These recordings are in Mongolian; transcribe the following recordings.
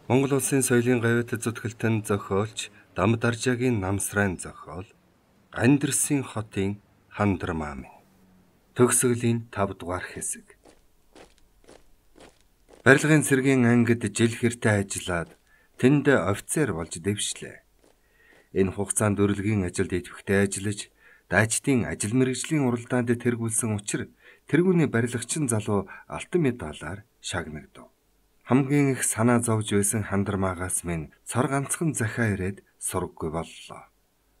Монгол улсын соёлын гавьяат зүтгэлтэн зохиолч Дамд Аржаагийн намсрайн зохиол Гандирсын хотын хандрмаа минь. Төгсгөлийн 5 дугаар хэсэг. Барилгын цэргийн ангид жил хэртэ ажиллаад тэнд офицер болж дэвшлээ. Энэ хугацаанд өрлөгийн ажилд идэвхтэй ажиллаж, даачдын ажил мэргэжлийн уралдаанд тэргүүлсэн учраас тэргүүний барилгачин залуу алтан медалаар шагнагдав. Хамгийн их санаа зовж байсан хандрмаагаас минь цор ганцхан захиа ирээд сургаггүй боллоо.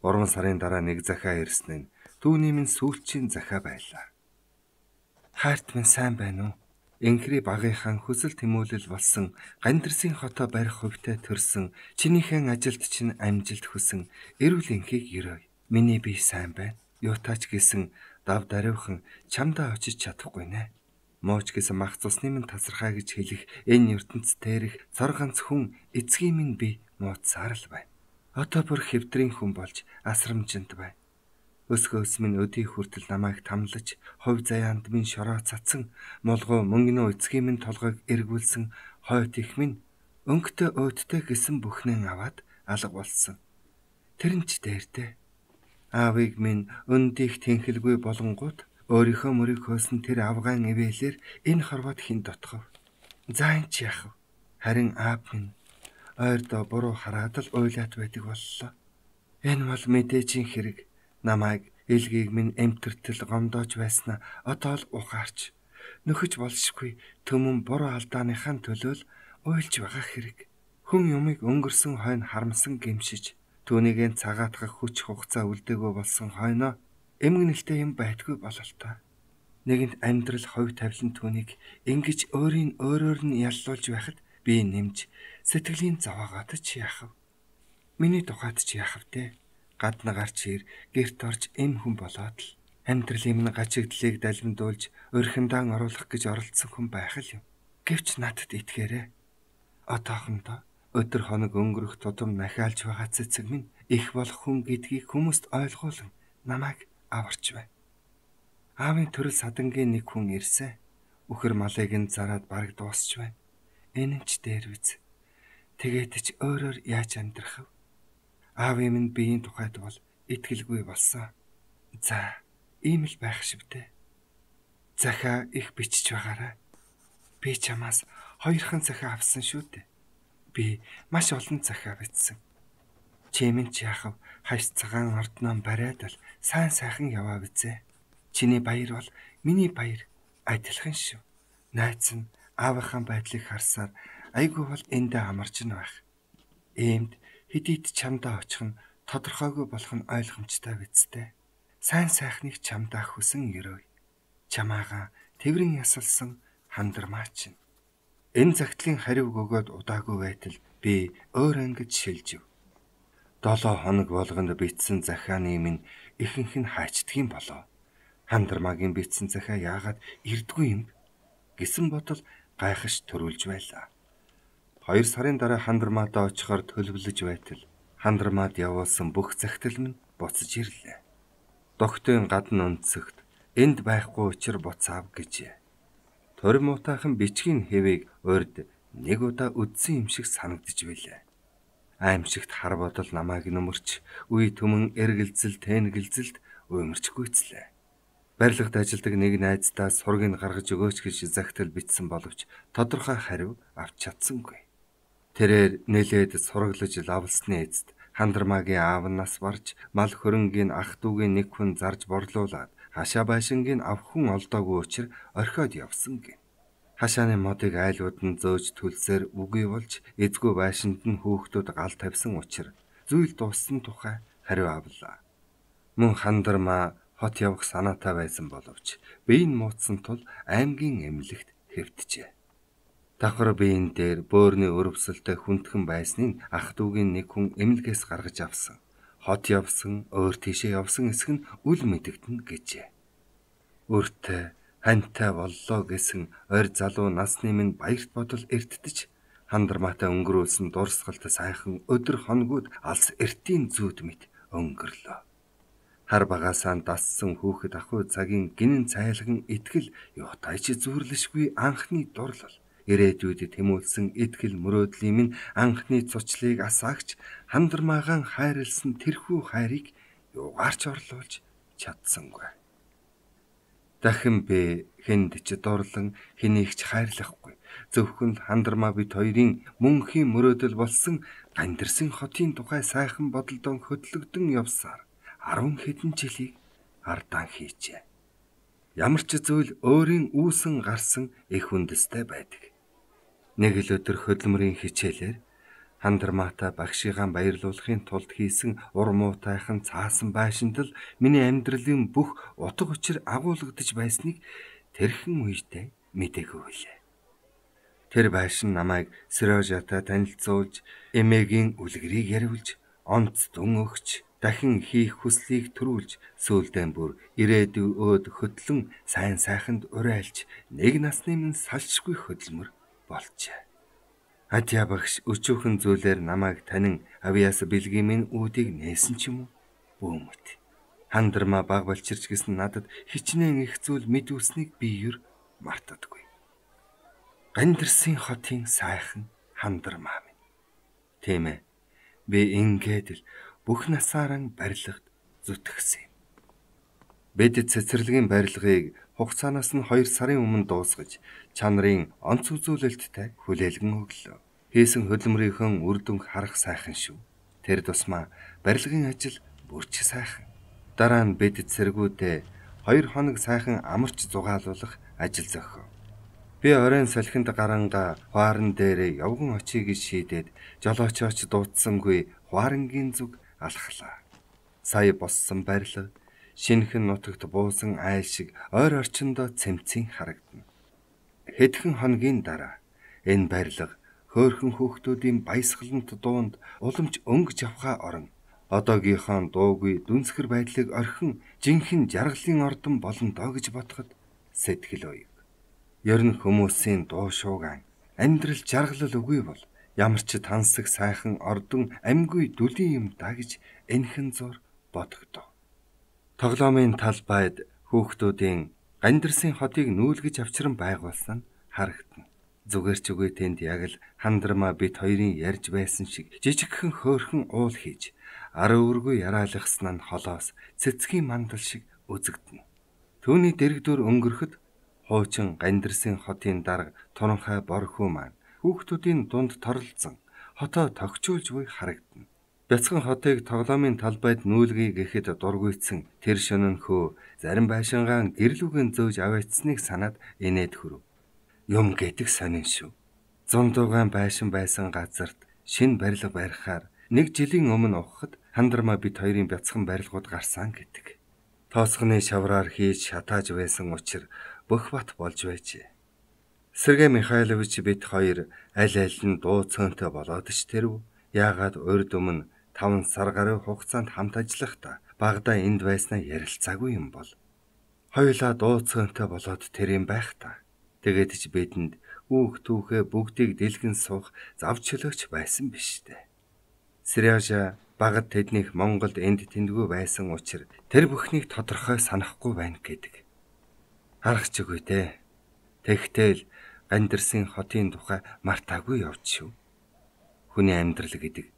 3 сарын дараа нэг захиа ирсэн нь түүний минь сүүлчийн захиа байлаа. Хайрт минь сайн байна уу? Энхри багийнхан хүсэл тэмүүлэл болсон Гандирсын хотоо барих хувьтай төрсөн чинийхэн ажилд чинь амжилт хүсэн эрүүл энхийг ерөөй. Миний бие сайн байна. Юутаач гэсэн дав даруйхан чамдаа очиж чадахгүй нэ. Мууч гэсэн мах цусны минь тасархаа гэж хэлэх энэ ертөнцид тэрх цор ганц хүн эцгийн минь би мууцсаар л байна. Одоо бүр хэвтрийн хүн болж асрамжинд байна. Өсгөөс минь өдий хүртэл намайг тамлаж, хувь заяанд минь шороо цацсан, молгоо мөнгөнөө эцгийн минь толгойг эргүүлсэн хойт их минь өнгөтэй өдтэй гэсэн бүхнээ аваад алга болсон. Тэр нь ч дээртэй. Аавыг минь өндийх тэнхэлгүй болонгууд өөрийнхөө мөрийнхөөс нь тэр авгаан ивэлэр энэ хорвоод хин дотхов. За энэ ч яах вэ? Харин аав минь ойрдоо буруу хараад л уйлаад байдаг боллоо. Энэ бол мэдээжийн хэрэг. Намайг элгийг минь эмтэртэл гомдоож байснаа одоо л ухаарч. Нөхөж болшгүй төмөн буруу алдааныхаа төлөө л уйлж байгаа хэрэг. Хүн юмыг өнгөрсөн хойно харамсан гэмшиж, түүнийг цагаатгах хүч хугацаа үлдээгөө болсон хойноо эмгэнэлтэй юм байдгүй бололтой. Нэгэнт амьдрал хувь тавилан түүнийг ингэж өөрийн өөрөөр нь яллуулж байхад би нэмж сэтгэлийн зовоогоод ч яах вэ? Миний тухайд ч яах вэ? Гадна гарч ир гэрт орж эм хүн болоод л амьдралын минь гачигдлыг далимдуулж өрхөндаан оруулах гэж оролдсон хүн байх л юм. Гэвч надад итгээрэй. Одоохондоо өдөр хоног өнгөрөх тутам нахиалж байгаа цэцэг минь их болох хүн гэдгийг хүмүүст ойлгуулан намайг аварч байна. Аавын төрөл садангийн нэг хүн ирсэн. Үхэр малыг нь зараад бараг дуусч байна. Энэ нь ч дээр биз. Тэгээд ч өөрөөр яаж амьдрах вэ? Аавын минь биеийн тухайд бол итгэлгүй болсон. За, ийм л байх шивтэй. Захиа их бичиж байгаарай. Би чамаас 2хан захиа авсан шүү дээ. Би маш олон захиа бичсэн. Чимэн ч яах вэ? Хаш цагаан ордноо бариад л сайн сайхан яваа бизээ. Чиний баяр бол миний баяр адилхан шүү. Найз нь аавынхаа байдлыг харсаар айгүй бол эндээ амарч нь байх. Иймд хэдийд чамдаа очих нь тодорхойгүй болох нь ойлгомжтой бидтэй. Сайн сайхныг чамдаа хүсэн ерөөй. Чамаагаа тэврэн ясалсан хандрмаа чинь. Энэ загтлын хариуг өгөөд удаагүй байтал би өөр ангид шилжив. 7 хоног болгонд битсэн захианы минь ихэнх нь хаачдгийн болоо. Хандрмаагийн битсэн захиа яагаад ирдгүй юм гэсэн бодол гайхаш төрүүлж байлаа. 2 сарын дараа хандрмаадаа очихоор төлөвлөж байтал хандрмаад явуулсан бүх захидал минь буцаж ирлээ. Догтын гадна өнцөгт энд байхгүй учир буцаав гэжээ. Тори муутайхан бичгийн хэвийг урд нэг удаа үдсэн юм шиг санагдж байлаа. Аимшигт хар бодол намайг нөмөрч, үе төмөн эргэлзэл тэнгэлзэлд уймарч гүйцлээ. Барилгад ажилдаг нэг найздаа сургийг гаргаж өгөөч гэж захидал бичсэн боловч тодорхой хариу авч чадсангүй. Тэрээр нэлээд сураглаж лавлсны эцэд хандрмаагийн аав нас барж, мал хөрөнгийн ах дүүгийн нэг хүн зарж борлуулад хашаа байшингийн ав хүн олдоогүй учраа орхиод явсан гин. Хашааны модыг айлууд нь зөөж түлсээр үгүй болж эзгүй байшинд нь хүүхдүүд гал тавьсан учраа зүйл дууссан тухай хариу авлаа. Мөн хандрмаа хот явах санаатай байсан боловч биеийн муутсан тул аймгийн эмнэлэгт хэвтжээ. Давхар биеийн дээр бөөрийн өрөвсөлтэй хүндхэн байсныг ах дүүгийн нэг хүн эмнэлгээс гаргаж авсан. Хот явсан, өөр тийшээ явсан эсэх нь үл мэдэгдэнэ гэжээ. Өөртөө хантай боллоо гэсэн ойр залуу насны минь баярт бодол эрттэж хандрмаатай өнгөрүүлсэн дурсгалт сайхан өдөр хоногуд алс эртийн зүүд мэт өнгөрлөө. Хар багаасаа дассан хүүхэд ахуй цагийн гинэн цайлган итгэл юутайч зүрлэшгүй анхны дурлал ирээдүйд тэмүүлсэн итгэл мөрөөдлийн минь анхны цуцлыг асаагч хандармаагаан хайрлсан тэрхүү хайрыг юугаарч орлуулж чадсангүй. Дахин би хэнд ч дурлан хэнийг ч хайрлахгүй. Зөвхөн л хандармаа бид хоёрын мөнхийн мөрөөдөл болсон Гандирсын хотын тухай сайхан бодолдон хөтлөгдөн явсаар 10 хэдэн жилийг ардаан хийжээ. Ямар ч зүйл өөрийн үүсэн гарсан их үндэстэй байдаг. Нэг л өдөр хөдөлмөрийн хичээлээр хандармаатай багшигаа баярлуулахын тулд хийсэн ур муутайхан цаасан байшиндал миний амьдралын бүх утга учир агуулгадж байсныг тэрхэн үедээ мэдээгүй билээ. Тэр байшин намайг Сережатай танилцуулж, эмээгийн үлгэрийг яриулж, онц дүн өгч, дахин хийх хүслийг төрүүлж, сүүлдээ бүр ирээдүйд хөтлөн сайн сайханд урайлж, нэг насны минь салшгүй хөдөлмөр болжээ. Адья багш өчүүхэн зүйлээр намайг танин авьяас бэлгийн минь үүдийг нээсэн ч юм уу? Бөөмөт. Хандармаа баг болчирч гэсэн надад хичнээн их зүйл мэдүүлснийг би юр мартадаггүй. Гандирсын хотын сайхан хандармаа минь. Тийм ээ. Би ингээд л бүх насаараа барилгад зүтгэсэн юм. Бид цэцэрлэгийн барилгыг хугацаанаас нь 2 сарын өмнө дуусгаж, чанарын онц үзүүлэлттэй хүлээлгэн өглөө. Хийсэн хөдөлмөрийнхөө үр дүнг харах сайхан шүү. Тэр тусмаа барилгын ажил бүрч сайхан. Дараа нь бид цэргүүдээ 2 хоног сайхан амарч зугаалуулах ажил зохио. Би оройн салхинд гаранга хуаран дээр явган очие гэж шийдээд жолоочооч дуудсангүй хуарангийн зүг алхлаа. Сая боссон барилга шинэхэн нутагт буусан айл шиг ойр орчиндөө цэмцэн харагдана. Хэдхэн хоногийн дараа энэ барилга хөөхөн хүүхдүүдийн баясгалант дуунд уламж өнгөж авахаа орон одоогийнхоо дуугүй дүнсгэр байдлыг орхин жинхэнэ жаргалын ордон болно доо гэж бодоход сэтгэл оёв. Ер нь хүмүүсийн дуу шуугаан амьдрал жаргалал үгүй бол ямар ч тансаг сайхан ордон амьгүй дүлийн юм да гэж энхэн зур бодогдов. Тоглоомын талбайд хүүхдүүдийн Гандирсын хотыг нүүлгэж авчран байгуулсан нь харагдана. Зүгээр ч үгүй тэнд яг л хандармаа бит хоёрын ярьж байсан шиг жижигхэн хөөхөн уул хийж ар өргөө яраалгасан нь холоос цэцгийн мандал шиг үзэгдэнэ. Түүний дэрэгдүр өнгөрөхөд хуучин Гандирсын хотын дарга туранхай борхүү маань хүүхдүүдийн дунд торлолцсон хотоо тогтчулж буй харагдана. Бяцхан хотыг тоглоомын талбайд нүүлгий гэхэд дургуйцсан тэр шөнөнхөө зарим байшингаан гэрлүүгэн зөөж аваачсныг санаад инээд хүрв. Юм гэдэг сонин шүү. Зундуугаан байшин байсан газарт шинэ барилга барихаар 1 жилийн өмнө ухахад хандармаа бит хоёрын бяцхан барилгууд гарсан гэдэг. Тооцгоны шавраар хийж шатааж байсан учир бөх бат болж байжээ. Сергей Михайлович бит хоёр аль аль нь дуу цөөнтэй болоод ч тэрв. Яагаад урд өмнө 5 сар гаруй хугацаанд хамт ажиллахдаа багада энд байснаа ярилцаагүй юм бол. Хоёулаа дуу цөөнтэй болоод тэр юм байх та. Тэгээд ч бидэнд үүх түүхээ бүгдийг дэлгэн суух зав чөлөөч байсан биш дээ. Сережа багад тэднийх Монголд энд тэндгүй байсан учраас тэр бүхнийг тодорхой санахгүй байна гэдэг. Харах ч үгүй дээ. Тэгтэл Гандирсын хотын тухай мартаагүй явж шүү. Хүний амьдрал гэдэг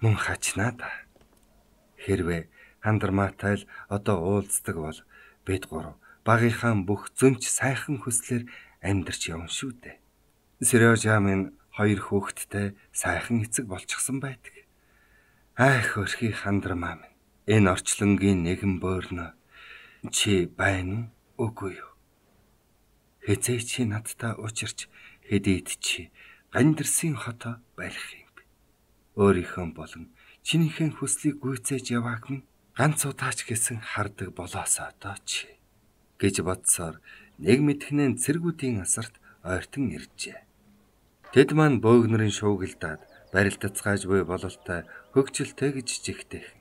мөн хачнаа да. Хэрвээ хандармаатай л одоо уулздаг бол бид гурав багийнхаа бүх зөнч сайхан хүслээр амьдарч явна шүү дээ. Сережа минь 2 хүүхэдтэй сайхан эцэг болчихсон байдаг. Айх өрхий хандармаа минь. Энэ орчлонгийн нэгэн боорно чи байна уу үгүй юу? Хэзээ чи надтай учирч хэдийд чи Гандирсын хотоо барих юм бэ? Өөрийнхөө болон чинийхэн хүслийг гүйцээж явааг минь ганц удаач гэсэн хардаг болоосоо доо чи гэж бодсоор нэг мэдхнэн цэргүүдийн асарт ойртон иржээ. Тэд маань бөөгнөрийн шуугилдаад барилдацгааж буй бололтой хөгжилтэй гэж жигтэйхэн.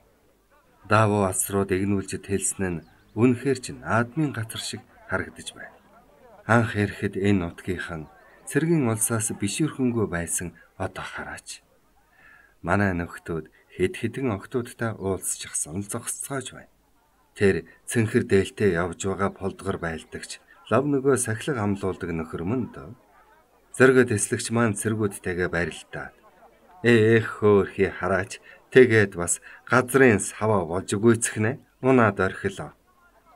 Даавуу асрууд игнүүлж тэлсэн нь үнэхээр ч наадмын газар шиг харагдаж байна. Анх ирэхэд энэ нутгийнхан цэргийн улсаас бишүүрхэнгүй байсан одоо хараач. Манай нөхдүүд хэд хэдэн октоодтай уулзчихсан л зогсцоож байна. Тэр цэнхэр дээлтэй явж байгаа полдгор байлдагч лав нөгөө сахилга амлуулдаг нөхөр мөн дөө. Зоригоо тэслэгч маань цэргүүдтэйгээ барилдаад эх хөөхий хараач тэгээд бас газрын саваа болж гүйцэхнэ. Унаад орхилоо.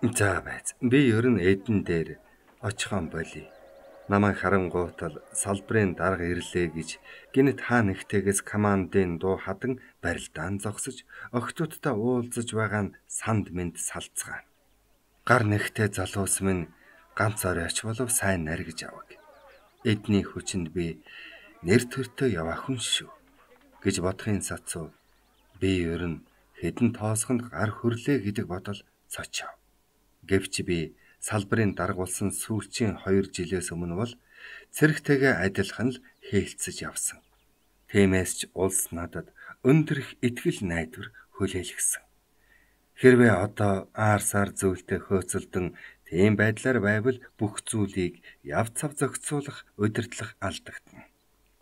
За байц. Би ер нь эдэн дээр очихон болий. Намайг харангуутал салбарын дарга ирлээ гэж гинэт хаа нэгтээс командын дуу хадан барилдаан зогсож охтуудтай уулзаж байгаа нь санд мэд салцгаана. Гар нэгтээ залуус минь ганц оройч болов сайн наргиж аваг. Эдний хүчинд би нэр төртөө яваа хүн шүү гэж бодохын сацуу би ер нь хэдэн тоосгонд гар хөрлөө гэдэг бодол цочов. Гэвч би салбарын даргуулсан сүүлчийн 2 жилээс өмнө бол цэрэгтэйгээ адилхан л хээлцэж явсан. Тиймээс ч улс надад өндөр их итгэл найдвар хүлээлгэсэн. Хэрвээ одоо аарсаар зүйлтэй хөөцөлдөн тийм байдлаар байвал бүх зүйлийг яв цав зохицуулах удирдлах алдагдана.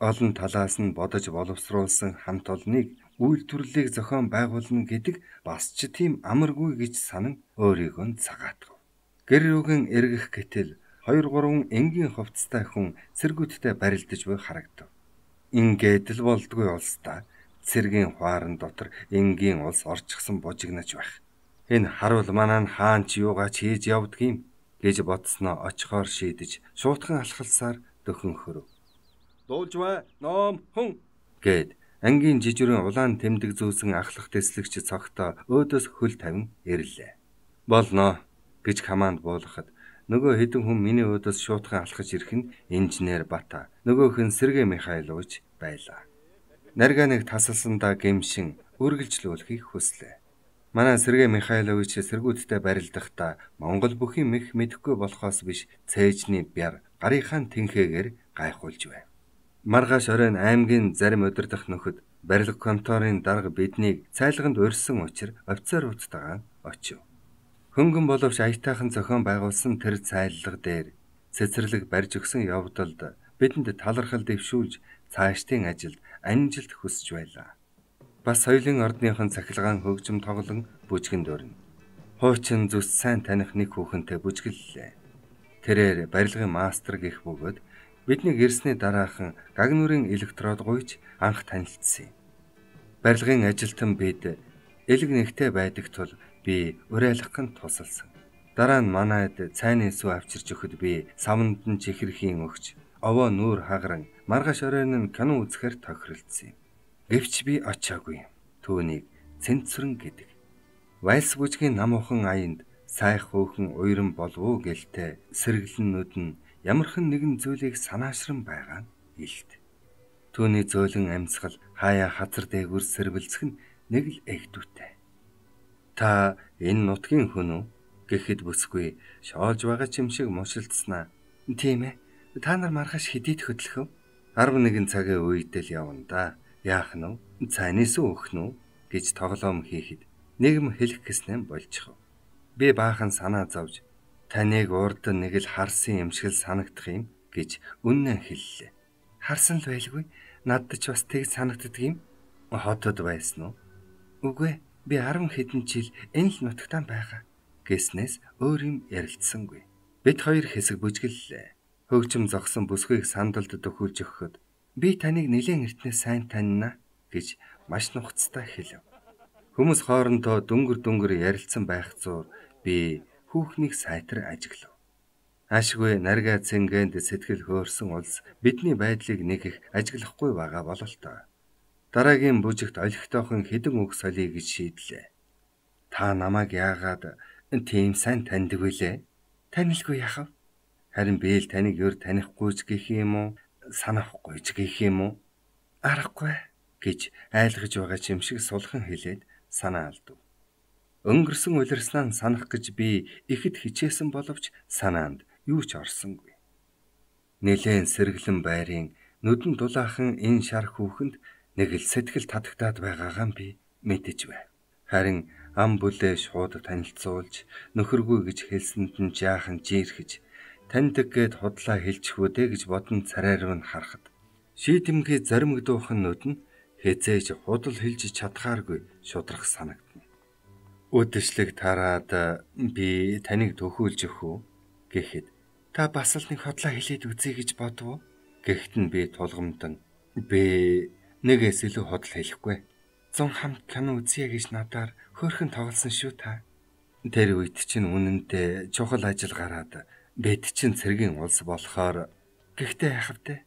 Олон талаас нь бодож боловсруулсан хамт олныг үйлдвэрлэлийг зохион байгуулна гэдэг бас ч тийм амаргүй гэж санан өөрийгөө цагаатгав. Гэр рүүгэн эргэх гэтэл 2-3 энгийн хувцастай хүн цэргүүдтэй барилдаж буй харагдав. Ингээд л болдгүй улстай цэргийн хуаран дотор энгийн улс орчихсон бужигнаж байх. Энэ харуул манаа хаан ч юугаач хийж явдгийм гэж бодсноо очихоор шийдэж шуутхан алхалсаар дөхөн хөрөв. Дуулж бай ном хүн гэд ангийн жижигрэн улаан тэмдэг зүүсэн ахлах тэслэгч цогтоо өөдөөс хөл тавин ирлээ. Болно гэж команд буулгахад нөгөө хэдэн хүн миний өөдөөс шуутхан алхаж ирэх нь инженер Бата, нөгөөх нь Сергей Михайлович байлаа. Нарга нэг тасалсандаа гэмшин үргэлжлүүлэхийг хүслээ. Манай Сергей Михайлович цэргүүдтэй барилдахдаа Монгол бүхий мэх мэдэхгүй болохоос биш цээжний бяр гарынхаа тэнхээгээр гайхуулж байв. Маргааш оройн аймгийн зарим удирдах нөхөд барилга конторын дарга биднийг цайлганд урьсан учир офицеруудтайгаа очив. Хөнгөн боловч аятайхан зохион байгуулсан тэр цайлга дээр цэцэрлэг барьж өгсөн явдалд бидэнд талархал дэвшүүлж цаашдын ажилд амжилт хүсэж байлаа. Бас соёлын ордныхон цахилгаан хөгжим тоглон бүжгэнд өрнө. Хуучин зүс сайн таних нэг хүүхэнтэй бүжгэллээ. Тэрээр барилгын мастер гэх бөгөөд бидний ирсний дараахан гаг нүрийн электрод гуйж анх танилцсан юм. Барилгын ажилтан бид элэг нэгтэй байдаг тул би уриалгахын тусалсан. Дараа нь манайд цайны сүү авчирч өгөхөд би савнд нь чихэрхийн өгч овоо нүүр хагаран маргааш оройн нь кино үзэхээр тохиролцсон юм. Гэвч би очиагүй. Түүнийг цэнцүрэн гэдэг. Вальс бүжгийн намуухан аянд сайх хөөхөн уйран болов уу гэлтэй сэргэлэнүүд нь ямархан нэгэн зүйлийг санаашран байгаа нь илт. Түүний зөөлөн амьсгал хаяа хазар дээгүр сэрбэлцэх нь нэг л эгдүүтэй. Та энэ нутгийн хүн үү гэхэд бүсгүй шоолж байгаа ч юм шиг мушилдснаа. Тийм ээ. Та нар маргааш хэдийд хөдлөх вэ? 11 цагийн үед л явна да. Яах нь вэ? Цайны сүү өгөх нь гэж тоглоом хийхэд нэгм хэлэх гэснээр болчихов. Би баахан санаа зовж таныг урд нэг л харсан юм шиг л санагдах юм гэж үнэн хэллээ. Харсан л байлгүй. Надад ч бас тэг санагддаг юм. Хотод байсан уу? Үгүй. Би 10 хэдэн жил энэ л нутагтаа байгаа гэснээс өөр юм ярилцсангүй. Бид хоёр хэсэг бүжгэллээ. Хөгжим зогсон бүсгүйг сандалд төхүүлж өгөхөд би таныг нэлээд эртнээ сайн танина гэж маш нухацтай хэлв. Хүмүүс хоорондоо дүнгэр ярилцсан байх зуур би хүүхнийг сайтар ажиглав. Ашгүй нарга цэнгэнд сэтгэл хөөрсөн улс бидний байдлыг нэг их ажиглахгүй байгаа бололтой. Дараагийн бүжигт олигтойхон хэдэн үг солиё гэж шийдлээ. Та намайг яагаад тийм сайн таньдаг вүлээ? Танилгүй яхав? Харин би л таныг өөр танихгүйч гэх юм уу? Санахгүйч гэх юм уу? Аргагүй гэж айлгаж байгаа ч юм шиг сулхан хэлээд санаа алдав. Өнгөрсөн улирснаа санах гэж би ихэд хичээсэн боловч санаанд юу ч орсонгүй. Нэлээд сэргэлэн байрын нүдэн дулаахан энэ шар хүүхэнд нэг л сэтгэл татагтаад байгаагаа би мэдэж байв. Харин ам бүлээ шууд танилцуулж нөхөргүй гэж хэлсэнд нь жаахан жиирхэж таньдаг гэд худлаа хэлчихвүдэ гэж бодон царайруу нь харахад шийдэмгий заримгдуухан нүд нь хэзээж худал хэлж чадхааргүй шудрах санагдана. Үдэшлэг тараад би таныг төхүүлж өгөх үү гэхэд та бас л нэг худлаа хэлээд үзье гэж бодов уу? Гэхдээ би тулгамдан би нэгээс илүү худал хэлэхгүй. 100 хамт кино үзье гэж надаар хөөрхөн тоглосон шүү та. Тэр үед чинь үнэндээ чухал ажил гараад бид чинь цэргийн улс болохоор гэхдээ яах вэ?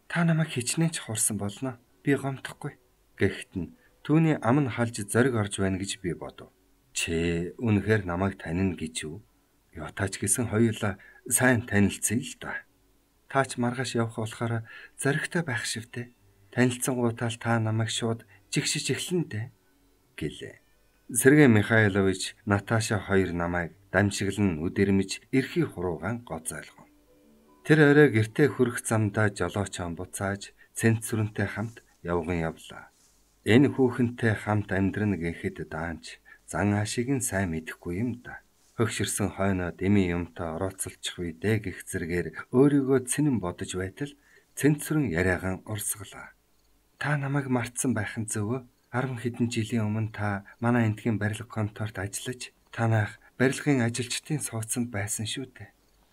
Та намайг хичнээн ч хуурсан болно. Би гомдохгүй. Гэхдээ нь түүний ам нь халж зориг орж байна гэж би бодов. Чи үнэхээр намайг танина гэж юу? Ятаач гэсэн хоёулаа сайн танилцъя л да. Таач маргааш явах болохоор зоригтой байх шивтэй. Танилцсангуутаал та намайг шууд жигшиж эхлэн дээ гэлээ. Сергей Михайлович Наташа хоёр намайг дамжиглан үдэрмж эрхий хуруугаан гоцойлгов. Тэр орой гэртээ хүрэх замдаа жолоочон буцааж Цэнцүрэнтэй хамт явган явлаа. Энэ хүүхэнтэй хамт амьдрна гэхэд даанч зан ашиг нь сайн мэдэхгүй юм да. Хөгшөрсөн хойноо дэмий юмтай орооцолчих үедээ гих зэргээр өөрийгөө цэнэн бодож байтал Цэнцүрэн яриагаан урсгалаа. Та намайг мартсан байх нь зөвөө. 10 хэдэн жилийн өмнө та манай эндхийн барилга конторт ажиллаж танах барилгын ажилчдын сууцанд байсан шүү дээ.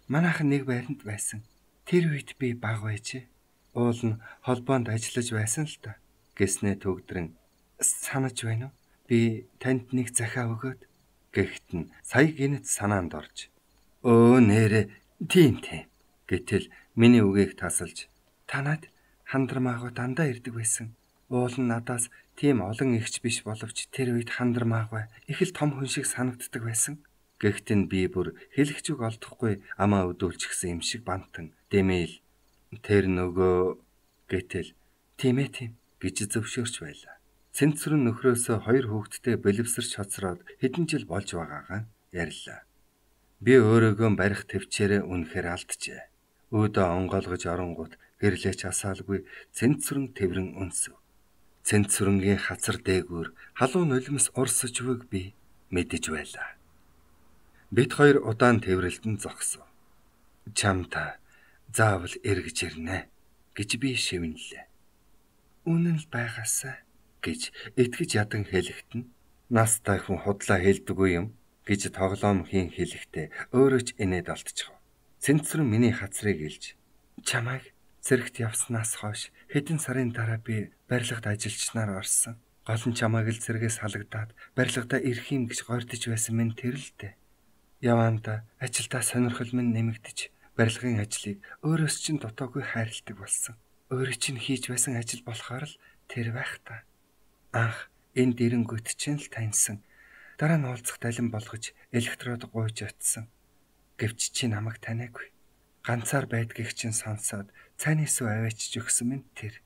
Манайхан нэг байранд байсан. Тэр үед би бага байжээ. Уул нь холбоонд ажиллаж байсан л та. Гэснээ төгдрөн санаж байна уу? Би танд нэг захиа өгөөд гэхэд нь сая гинэт санаанд орж өө нэрэ тийм гэтэл миний үгийг тасалж танад хандармаагаа дандаа ирдэг байсан. Уул нь надаас тийм олон ихч биш боловч тэр үед хандармаагаа их л том хүн шиг санагддаг байсан. Гэхдээ нь би бүр хэлэх зүг олдохгүй амаа өдүүлчихсэн юм шиг бантан дэмээл тэр нөгөө гэтэл тийм гэж зөвшөөрч байлаа. Цэнцүрэн нөхрөөсөө 2 хүүхэдтэй бэлэвсэрч хоцроод хэдэн жил болж байгаагаа ярьлаа. Би өөрийгөө барих төвчээрээ үнэхээр алджээ. Өөдөө онгойлгож оронгууд гэрлээч асаалгүй Цэнцүрэн тэврэн өнсөв. Цэнцүрэнгийн хацар дээгүүр халуун нулимс урсаж буйг би мэдэж байлаа. Бид хоёр удаан тэврэлтэн зогсов. Чамта заавал эргэж ирнэ гэж би шивнэлээ. Үнэн л байгаасаа гэж итгэж ядан хэлэхэд нь настай хүн худлаа хэлдэггүй юм гэж тоглоом хийн хэлэхдээ өөрөө ч инээд алдчихв. Цэнцүрэн миний хацрыг илж чамайг цэрэгт явснаас хойш хэдэн сарын дараа би барилгад ажилчнаар орсон. Гол нь чамайг л цэргээс халагдаад барилгадаа ирэх юм гэж гойрдож байсан минь тэр л дээ. Яваанда ажилдаа сонирхол минь нэмэгдэж барилгын ажлыг өөрөөс чинь дутаагүй хайрладаг болсон. Өөрөө чинь хийж байсан ажил болохоор л тэр байх та. Анх энэ дэрэнгүйт чинь л таньсан. Дараа нь уулзах далин болгож электрод гуйж очсон. Гэвч чи намайг таниагүй. Ганцаар байдгийг чинь сонсоод цааны сүв аваачиж өгсөн минь тэр.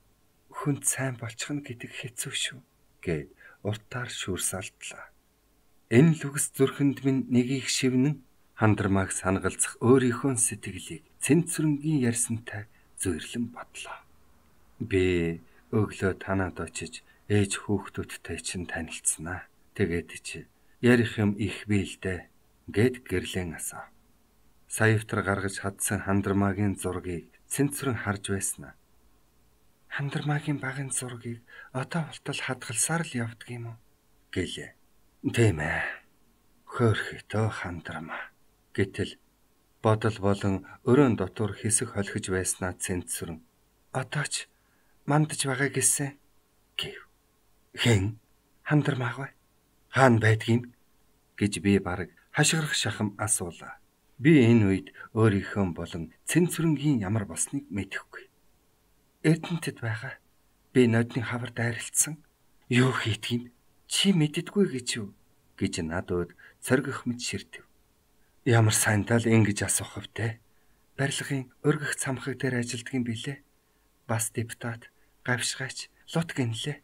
Хүнд сайн болчих нь гэдэг хэцүү шүү гэд уртаар шүүрсалдлаа. Энэ л үгс зүрхэнд минь нэгийг шивнэн хандармааг санагалзах өөрийнхөө сэтгэлийг Цэнцүрэнгийн ярьсантай зүйрлэн бодлоо. Би өглөө танаад очиж ээж хүүхдүүдтэй чинь танилцсанаа. Тэгээд чи ярих юм их биэлдэ гэд гэрлэн асаа. Саявтар гаргаж хадсан хандармаагийн зургийг Цэнцүрэн харж байснаа. Хандармаагийн багын зургийг одоо болтол хадгалсаар л явдаг юм уу гэлээ. Тийм ээ. Хөөрхөтөө хандармаа. Гэтэл бодол болон өрөөнд дотор хэсэг холхиж байснаа Цэнцүрэн. Одоо ч мандаж байгаа гэсэн гэв. Хэн хандармаагаа хаана байдгийм гэж би бараг хашгирах шахам асуулаа. Би энэ үед өөрийнхөө болон Цэнцүрэнгийн ямар болсныг мэдэхгүй. Эрдэнэтэд байгаа. Би нодны хавар дайралтсан. Юу хийдгийг чи мэддэггүй гэж юу гэж надад цоргих мэт ширтэв. Ямар сайнтал ингэж асуух втэ. Барилгын өргөх цамхаг дээр ажилддаг юм билээ. Бас депутат, гавшгаач, лут гинлээ.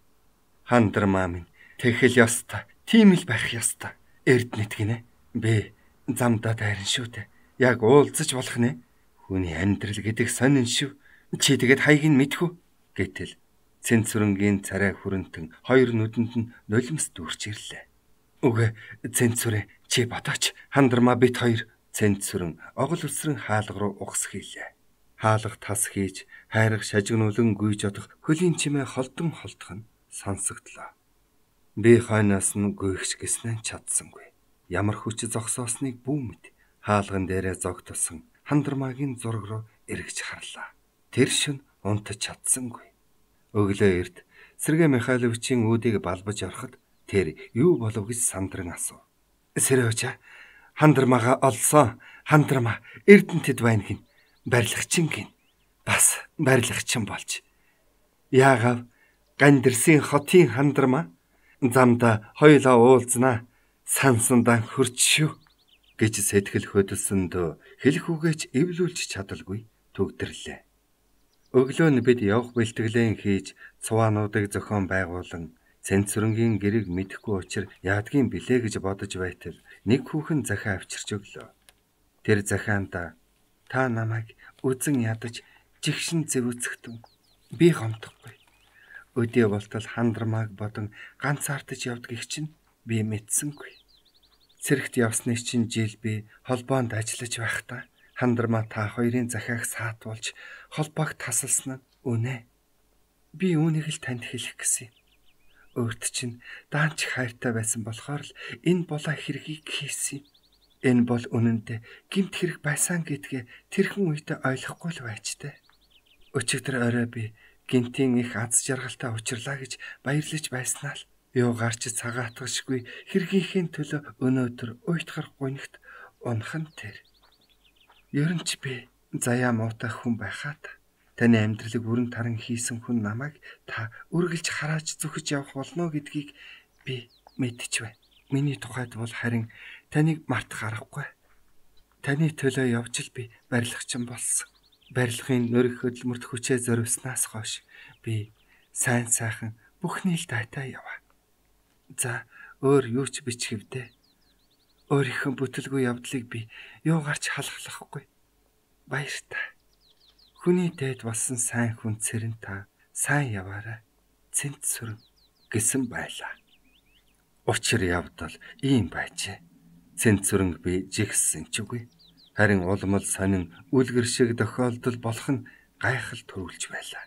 Хандармаа минь тэхэл ёстой. Тийм л байх ёстой. Эрдэнэт гинэ. Би замдаа дайран шүү дээ. Яг уулзаж болох нэ. Хүний амьдрал гэдэг сонин шүү. Чи тэгэд хайг нь мэдхүү гэтэл Цэнцүрэнгийн царай хүрэнтэн хоёр нүдэнд нь нулимс дүүрч ирлээ. Үгүй Цэнцүрэн чи бодооч хандармаа бит хоёр. Цэнцүрэн огол үсрэн хаалга руу угс хийлээ. Хаалга тас хийж хайрах шажигнуулан гүйж одох хөлийн чимээ холдон холдох нь сонсогдлоо. Би хойноос нь гүйхч гэснээ чадсангүй. Ямар хүч зогсоосныг бүү мэд хаалган дээрээ зогтолсон хандармаагийн зураг руу эргэж харлаа. Тэр шөнө унтаж чадсангүй. Өглөө эрт Сергей Михайловичийн үүдийг балбаж ороход тэр юу болов гэж сандран асуув. Сэрөөча хандармаага олсон. Хандармаа Эрдэнэтэд байна гин. Барилгачин гин. Бас барилгачин болж. Яагав Гандирсын хотын хандармаа замда хоёлаа уулзнаа. Сансандан хөрч шүү гэж сэтгэл хөдлсөндөө хэлэх үгээч эвлүүлж чадалгүй төгдөрлөө. Өглөө нь бид явах бэлтгэлэн хийж цуваануудыг зохион байгуулан Цэнцүрэнгийн гэрийг мэдэхгүй учраа яадгийн билээ гэж бодож байтал нэг хүүхэн захиа авчирч өглөө. Тэр захианда та намайг үзэн ядаж жигшин зэвүүцэгтэн. Би гомдохгүй. Өдөө болтол хандармааг бодон ганцаардаж явдгийг чинь би мэдсэнгүй. Цэрэгт явсны чинь жил би холбоонд ажиллаж байхдаа хандармаа та хоёрын захиаг саатуулж холбоог тасалсан нь үнэ. Би үүнийг л танд хэлэх гэсэн. Өөрт чинь даанч хайртай байсан болохоор л энэ болоо хэргийг хийсэн. Энэ бол үнэндээ гэмт хэрэг байсан гэдгээ тэрхэн үедээ ойлгохгүй л байжтэй. Өчигдөр орой би гинтийн их аз жаргалтай учрлаа гэж баярлаж байснаа л юу гарч цагаатгашгүй хэргийнхээ төлөө өнөөдөр уйтгар гунигт унах нь тэр. Ер нь ч би заяа муутай хүн байхад таны амьдралыг бүрэн таран хийсэн хүн намайг та үргэлж харааж зүхэж явах болно гэдгийг би мэдэж байна. Миний тухайд бол харин таныг мартах аргагүй. Таны төлөө явж л би барилгачин болсон. Барилгын нөрөх хөдөлмөрт хүчээ зориулснаас хойш би сайн сайхан бүхний л дайтай яваа. За өөр юу ч бичгэвдэ. Өөрийнхөө бүтэлгүй явдлыг би юу гарч халахлахгүй. Баяртай. Хүний дээд болсон сайн хүн цэрэн та сайн яваарай. Цэнцүрэн гэсэн байлаа. Учир явдал ийм байжээ. Цэнцүрэн би жигссэн ч үгүй. Харин улмал сонин үлгэр шиг тохиолдол болох нь гайхал төрүүлж байлаа.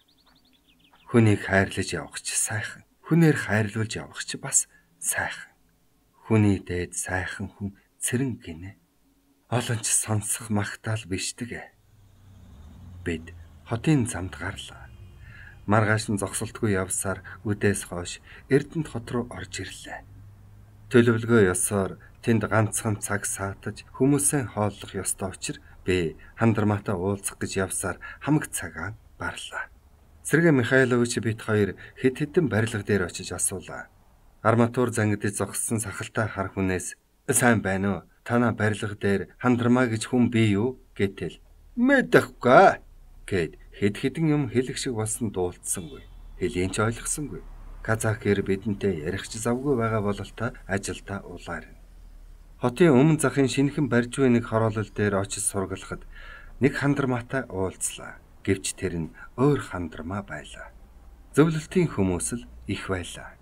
Хүнийг хайрлаж явах ч сайхан. Хүнээр хайрлуулж явах ч бас сайхан. Хүний дээд сайхан хүн цэрэн гинэ. Олон ч сонсох магтаал бишдэг. Бид хотын замд гарлаа. Маргааш нь зогсолтгүй явсаар үдээс хойш Эрдэнэт хот руу орж ирлээ. Төлөвлөгөө ёсоор тэнд ганцхан цаг саатаж хүмүүсээ хооллох ёстой учраас би хандармаатай уулзах гэж явсаар хамаг цагаан барлаа. Сергей Михайлович бид хоёр хэд хэдэн барилга дээр очиж асуулаа. Арматур зангидж зогссон сахалтай хар хүнээс сайн байна уу? Танаа барилга дээр хандармаа гэж хүн бий юу? Гэтэл мэдэхгүй гэд хэд хэдэн юм хэлэх шиг болсон дуулдсангүй. Хэлийг ч ойлгосонгүй. Казакэр бидэнтэй ярих ч завгүй байгаа бололтой ажилдаа улаарна. Хотын өмнө захын шинэхэн барьж буй нэг хороолол дээр очиж сургалахад нэг хандармаатай уулзлаа. Гэвч тэр нь өөр хандармаа байлаа. Зөвлөлтийн хүмүүс л их байлаа.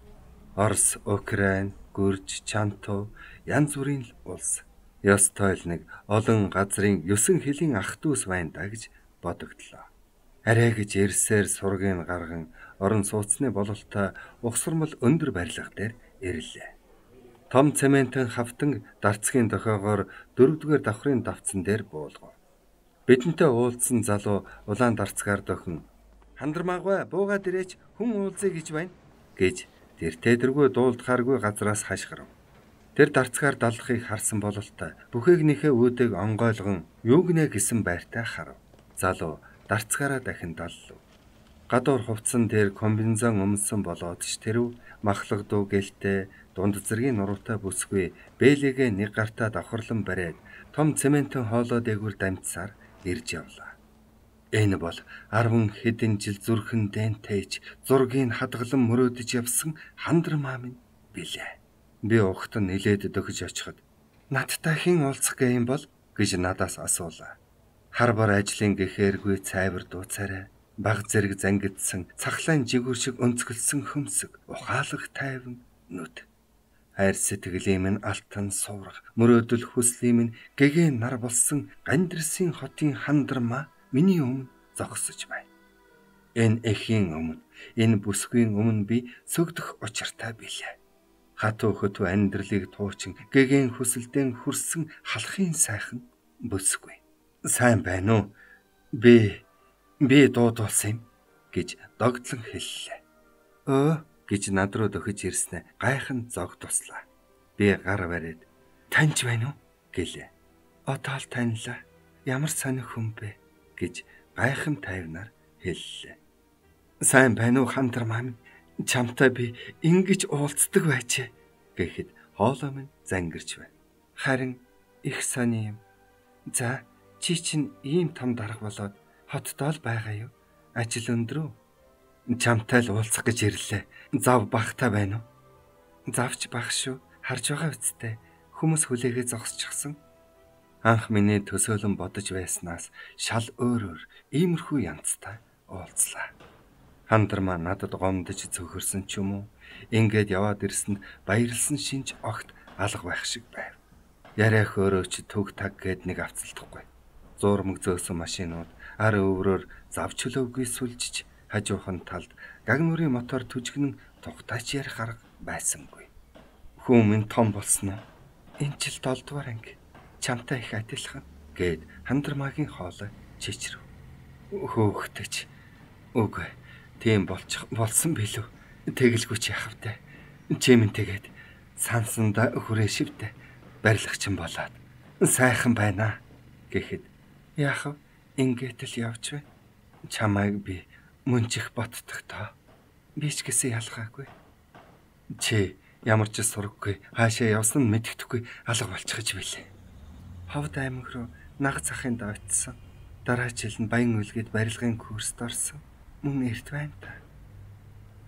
Орос, Украин, Гүрж, Чанту янз бүрийн улс. Ёстой л нэг олон газрын 9 хэлийн ах дүүс байна да гэж бодогдлоо. Арай гэж ирсээр сургийн гарган орон сууцны бололтой ухсармал өндөр барилга дээр ирлээ. Том цементэн хавтан дарцгийн дохоогоор 4-р давхрын давцсан дээр буулгав. Бидэнтэй уулзсан залуу улаан дарцгаар дохин хандармаагүй буугаад ирээч хүн уулзъя гэж байна гэж тэр тедэргүй дуулдахааргүй газраас хашгирав. Тэр дарцгаар далдахыг харсан бололтой бүхээгнийхээ үүдийг онгойлгон юу гинэ гэсэн байртай харав. Залуу дарцгаараа дахин даллав. Гадуур хувцсан дээр комбинезон өмсөн болоод ч тэрв махлаг дуу гэлтэй дунд зэргийн нуруутай бүсгүй бэлэгээ нэг гартаа давхарлан бариад том цементэн хоолой дээгүүр дамжсаар ирж явлаа. Энэ бол 10 хэдэн жил зүрхэн дэнтэйч зургийг хадгалан мөрөөдөж явсан хандармаа минь билээ. Би ухтан нилээд дөхөж очиход надтай хэн уулзах гэм бол гэж надаас асуулаа. Хар бар ажлын гэхээргүй цайвар дууцаарай. Баг зэрэг зангидсан цахлаан жигүүр шиг өнцгөлсөн хөмсг ухаалаг тайван нүд. Хайр сэтгэлийн минь алтан суурах мөрөөдөл хүслийн минь гэгээ нар болсон Гандирсын хотын хандармаа миний өмнө зогсож байна. Энэ эхийн өмнө, энэ бүсгийн өмнө би сүгдөх учиртай билээ. Хатуу хөтөө амьдралыг туучин гэгээн хүсэлдэн хүрсэн халахын сайхан бүсгүй. Сайн байна уу? Би дуудуулсан юм. гэж догдлон хэллээ. Өө гэж над руу дөхөж ирснэ гайхан зог туслаа. Би гар бариад таньж байна уу гэлээ. Одоо л таньлаа. Ямар сонир хүн бэ гэж гайхан тайвнаар хэллээ. Сайн байна уу Хандар маам? Чамтай би ингэж уулздаг байжээ гэхэд хоолой минь зангирч байна. Харин их сони юм. За чи чинь ийм том дарга болоод хотдоо л байгаа юу? Ажил өндөр үү? Чамтай л уулзах гэж ирлээ. Зав багтай байна уу? Завч баг шүү. Харж байгаа үсттэй. Хүмүүс хүлээгээ зогсчихсон. Анх миний төсөөлөн бодож байснаас шал өөрөөр иймэрхүү янзтай уулзлаа. Хандар маань надад гомдож цөхөрсөн ч юм уу? Ингээд яваад ирсэнд баярлсан шинж огт алга байх шиг байв. Яриах өөрөө ч төг таг гээд нэг авцалдахгүй. Зуурмаг зөөсөн машинууд ар өврөөр завч хөлөөгүй сүлжиж хажуухан талд гагнуурын мотор түжгнэн тухтаач ярих арга байсангүй. Хүн минь том болсон уу? Энэ жил 7 дугаар анги. Чамтай их адилхан гээд Хандар магийн хоолой чичрэв. Хөөхтэйч. Үгүй. Тийм болсон билүү. Тэгэлгүй ч яхав те. Чимэн тэгээд сансанда хүрээ шивдэ. Барилгачин болоод сайхан байна гэхэд яахав ингээд л явж байна. Чамайг би мөнчих ботдох тоо. Би ч гэсэн ялгаагүй. Чи ямар ч сураггүй хаашаа явсан нь мэддэхгүй алга болчихж билээ. Ховд аймаг руу наг захын давтсан. Дараа жил нь баян үлгэд барилгын курст орсон. Мөн эрт байна та.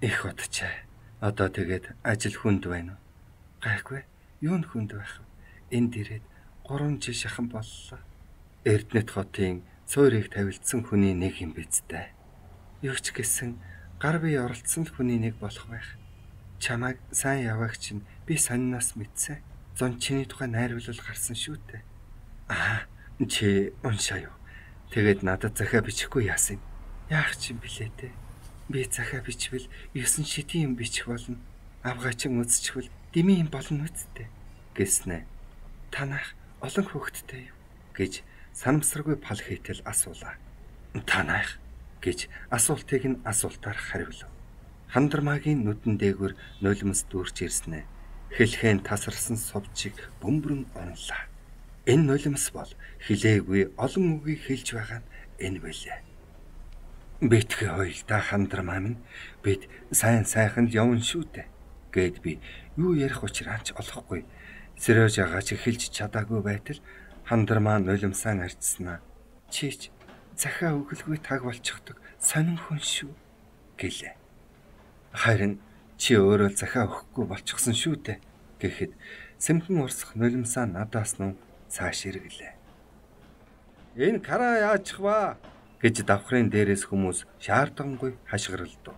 Их удчаа. Одоо тэгээд ажил хүнд байна уу? Гайгүй. Юу н хүнд байх вэ? Энд ирээд 3 жил шахан боллоо. Эрдэнэт хотын цөөрийг тавилдсан хүний нэг юм бидтэй. Юу ч гэсэн гар бие оролцсон л хүний нэг болох байх. Чамайг сайн яваагч чинь би сонноос мэдсэн. Зон чиний тухай найруулал гарсан шүү дээ. Чи уншаа юу? Тэгээд надад захиа бичихгүй яасан юм? Яах чинь билээ те? Би захиа бичвэл 9 шидийн юм бичих болно. Авгаачин үзчихвэл дими юм болно үсттэй гэснэ. Танах олон хүүхэдтэй юу гэж санамсаргүй пал хийтэл асуулаа. Танах гэж асуултыг нь асуултаар хариулв. Хандар магийн нүдэн дээгүүр нулимс дүүрч ирснэ. Хэлхэн тасарсан сувчиг бөмбөрөн онлаа. Энэ нулимс бол хилээгүй олон үгийг хэлж байгаа нь энэ байлаа. Битгий хоёлаа Хандар маам нь бид сайхан л явна шүү дээ гэд би юу ярих учраач олохгүй. Сэрэж агаач эхэлж чадаагүй байтал Хандар маань нулимсаа арчснаа. Чич захиа өглгүй таг болчихдог сонин хүн шүү гэлээ. Харин чи өөрөө захиа өгөхгүй болчихсон шүү дээ гэхэд сэмхэн урсах нулимсаа надаас нь цааш иргэлээ. Энэ кара яачих вэ гэж давхрын дээрээс хүмүүс шаардлагангүй хашгиралдав.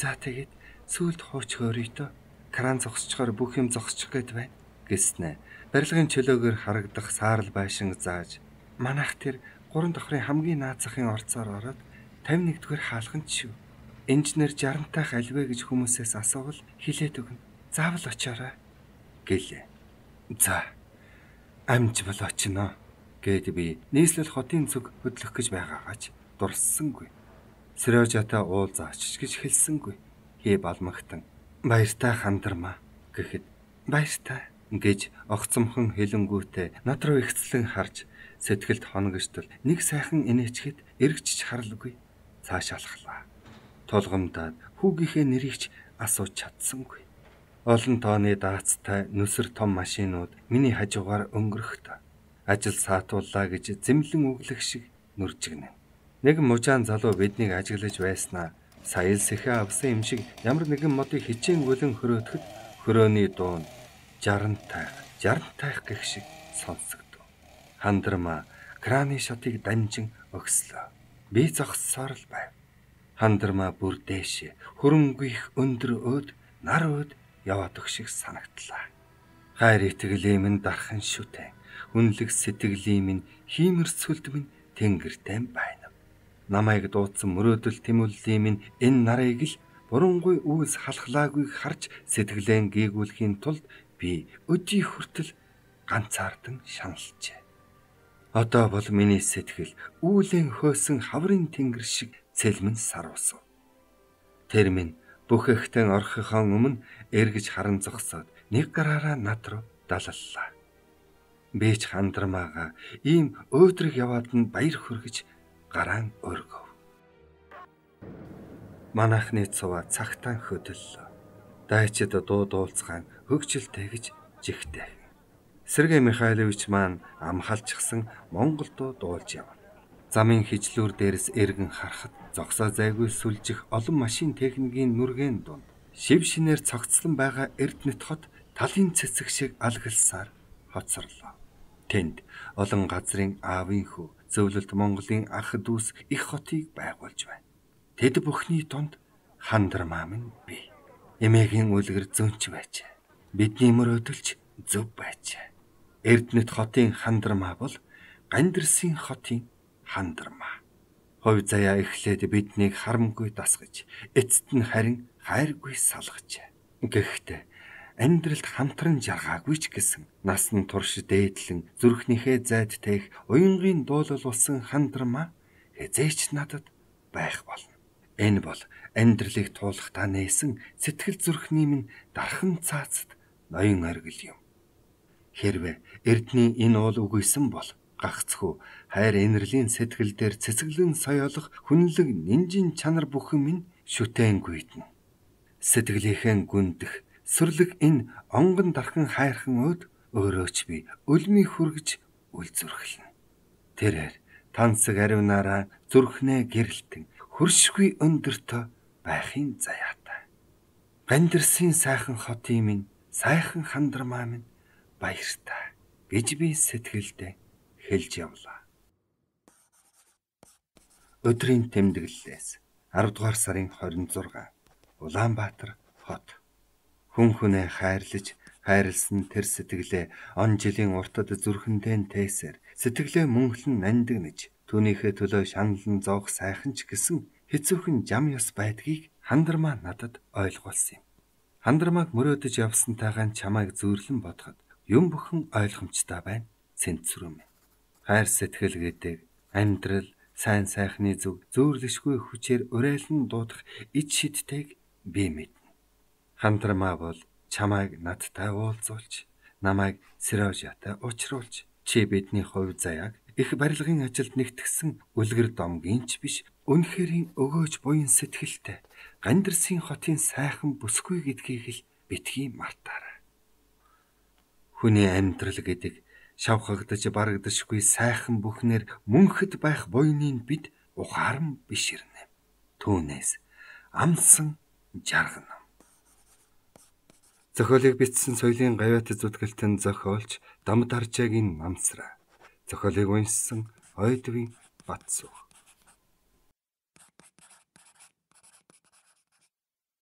За тэгээд сүүлд хууч хөөрийтөө кран зогсчихоор бүх юм зогсчих гээд байна гэснэ. Барилгын чөлөөгөр харагдах саарл байшин зааж манайх тэр 3 давхрын хамгийн наазахын орцоор ороод 51-р хаалганд шүү. Инженер 60-тайх альвэ гэж хүмүүсээс асуувал хилээд өгнө. Заавал очоорой гэлээ. За амж бол очино гэд би нийслэл хотын зүг хөдлөх гэж байгаагаач дурссангүй. Сэрежата уулзаач гэж хэлсэнгүй. Хий балмагтан баяртай Хандар маа гэхэд баяртай гэж огцомхон хэлэнгүүтээ над руу ихцлэн харж сэтгэлд хоногштол нэг сайхан инээчгэд эргэж харалгүй цааш алхлаа. Толгомдаад хүүгийнхээ нэрийг ч асууж чадсангүй. Олон тооны даацтай нүсэр том машинууд миний хажуугаар өнгөрөхдөө ажил саатууллаа гэж зэмлэн үглэх шиг нүржигнэ. Нэг мужаан залуу биднийг ажиглаж байснаа сая л сэхэ авсан юм шиг ямар нэгэн модыг хичээнгүлэн хөрөөдөхөд хөрөөний дуун 60 тайх гэх шиг сонсогдов. Хандар маа краны шатыг данжин өгслөө. Би зогссоор л байв. Хандар маа бүр дээшээ хөрөнгөих өндөр өөд нар өөд яваад өгөх шиг санагдлаа. Хайр итгэлийн минь дархан шүтэн. Үнэлэг сэтгэлийн минь хиймэрцүүлд минь тэнгэртэй байна. Намайг дуудсан мөрөөдөл тэмүүллийн минь энэ нарыг л бурангуй үүс халахлаагүй харж сэтгэлэн гээгүүлэхийн тулд би өдий хүртэл ганцаардан шаналжээ. Одоо бол миний сэтгэл үүлэн хөөсөн хаврын тэнгэр шиг цэлмэн сар усв. Тэр минь бүх ихтэн орхихоо өмнө эргэж харан зогсоод нэг гараараа над руу далаллаа. Би ч хандрамаага ийм өөдрөг яваад нь баяр хүргэж гараан өргөв. Манайхны цуваа цагтаан хөдөллөө. Дайчид дуу дуулцгаан хөгжилтэй гэж жигтэй. Сергей Михайлович маань амхалчихсан монгол дуу дуулж явна. Замын хижлүүр дээрс эргэн харахад зогсоо зайгүй сүлжих олон машин техникийн нүргээн дунд шив шинээр цогцлон байгаа Эрдэнэт хот талын цэцэг шиг алгалсаар хоцорлоо. Тэнд олон газрын аавын хүү зөвлөлт Монголын ах дүүс их хотыг байгуулж байна. Тэд бүхний дунд Хандармаа минь бий. Эмээгийн үлгэр зөнч байж. Бидний мөрөөдөлч зөв байж. Эрдэнэт хотын Хандармаа бол Гандирсын хотын Хандармаа. Ховь заяа эхлээд биднийг харамгүй дасгаж, эцэст нь харин хайргүй салгаж. Гэхдээ амьдралд хамтран жаргаагүй ч гэсэн насан турш дээдлэн зүрхнийхээ зайд таих уянгийн дуулал болсон Хандармаа хэзээч надад байх болно. Энэ бол амьдралыг туулахтаа нээсэн сэтгэл зүрхний минь дархан цаацд ноён оргил юм. Хэрвээ Эрдний энэ уул үгүйсэн бол гагцхүү хайр инэрлийн сэтгэл дээр цэцэглэн соёолох хүнлэг нинжин чанар бүхэн минь шүтэн гүйднэ. Сэтгэлийнхээ гүндэх сүрлэг энэ онгон дархан хайрхан өд өөрөөч би өлмий хүргэж үлзүрхлэнэ. Тэрээр тансаг аривнаараа зүрхнээ гэрэлтэн хөршгүй өндөртөө байхын заяатай. Гандирсын сайхан хотын минь сайхан Хандармаа минь баяртай гэж би сэтгэлдээ хэлж явлаа. Өдрийн тэмдэглэлээс 10 дугаар сарын 26 Улаанбаатар хот. Хүн хүнээ хайрлаж хайрлсан тэр сэтгэлээ он жилийн уртад зүрхэндээ тээсээр сэтгэлээ мөнхлөн нандинаж түүнийхээ төлөө шаналн зоох сайхан ч гэсэн хэцүүхэн жам ёс байдгийг Хандармаа надад ойлгуулсан юм. Хандармааг мөрөөдөж явсантайгаан чамайг зөөрлөн бодоход юм бүхэн ойлгомжтой байна. Цэнцүрэн. Хайр сэтгэл гэдэг амьдрал сайн сайхны зүг зөөрлөшгүй хүчээр урайлан дуудах ид шидтэйг би мэднэ. Хандармаа бол чамайг надтай уулзуулж, намайг Сережатай уулзруулж, чи бидний хувь заяаг их барилгын ажилд нэгтгсэн үлгэр домгийн ч биш, үнэхэрийн өгөөж буян сэтгэлтэй Гандирсын хотын сайхан бүсгүй гэдгийг л битгий мартаарай. Хүний амьдрал гэдэг шавхагдаж барагдашгүй сайхан бүхнэр мөнхөд байх буйныг бид ухааран биширнэ. Түүнээс амсан жаргана. Зохиолыг бичсэн соёлын гавьяат зүтгэлтэн зохиолч Дамдаржаагийн намсраа. Зохиолыг уншсан Ойдвын Батсуу.